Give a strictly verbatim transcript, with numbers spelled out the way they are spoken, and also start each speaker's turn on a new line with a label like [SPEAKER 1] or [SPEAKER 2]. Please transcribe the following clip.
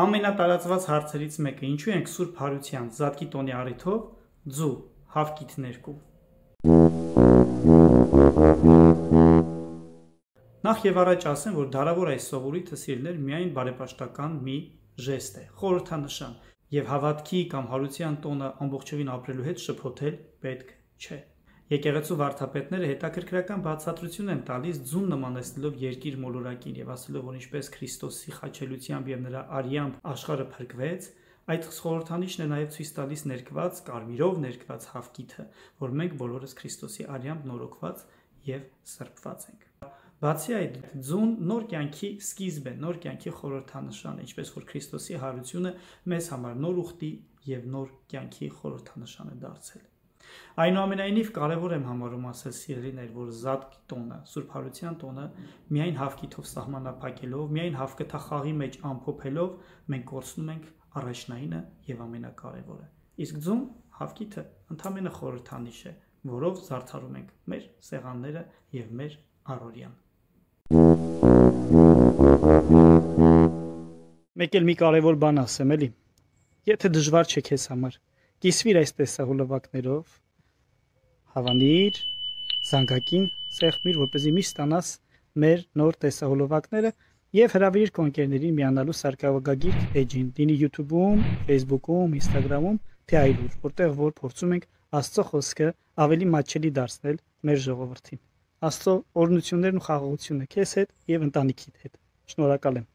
[SPEAKER 1] Ամենատարածված հարցերից մեկը՝ ինչու ենք Սուրբ Հարության Զատկի տոնի առիթով ձու հավկիթ ներկում։ Նախ եւ առաջ ասեմ, որ դարավոր այս սովորույթը սիրելիներ միայն բարեպաշտական մի ժեստ է, խորհրդանշան, եւ հավատքի կամ հարության տոնը ամբողջովին ապրելու հետ շփոթել պետք չէ։ Եկեղեցու վարդապետները հետաքրքրական բացատրություն են տալիս ձուն նմանեցնելով երկիր մոլորակին եւ ասելով, որ ինչպես Քրիստոսի խաչելությամբ եւ նրա արյամբ աշխարհը փրկվեց, այդ խորհրդանիշն է նաեւ ցույց տալիս ներկված կարմիրով ներկված հավկիթը, որ մենք բոլորս Քրիստոսի արյամբ նորոգված եւ սրբված ենք։ Բացի այդ, ձուն նոր կյանքի սկիզբ է, նոր կյանքի խորհրդանշան է, ինչպես որ Քրիստոսի հարությունը մեզ համար նոր ուխտի եւ նոր կյանքի խորհրդանշան է դարձել։ Այնուամենայնիվ կարևոր եմ համարում ասել սիրելիներ, որ Զատկի տոնը, Սուրբ Հարության տոնը միայն հավկիթով սահմանափակելով, միայն հավկթախաղի մեջ ամփոփելով մենք կորցնում ենք առաջնայինը եւ ամենակարևորը։ Իսկ ձուն հավկիթը ընդամենը խորհրդանիշ է, որով զարդարում ենք մեր սեղանները եւ մեր առօրյան։ Մեկ էլ մի կարևոր բան ասեմ, էլի։ Եթե դժվար չէ քեզ համար, կիսվիր այս տեսահոլովակներով, հավանիր, զանգակին սեղմիր, որպեսզի միշտ ստանաս մեր նոր տեսահոլովակները եւ հրավիրիր քո ընկերներին միանալու սարքավորագիր էջին, դինի YouTube-ում, Facebook-ում, Instagram-ում, թե այլուր, որտեղ որ փորձում ենք Աստծո խոսքը ավելի մատչելի դարձնել մեր ժողովրդին։ Աստծո օրհնություններն ու խաղաղությունը քեզ հետ եւ ընտանիքիդ հետ։ Շնորհակալ եմ։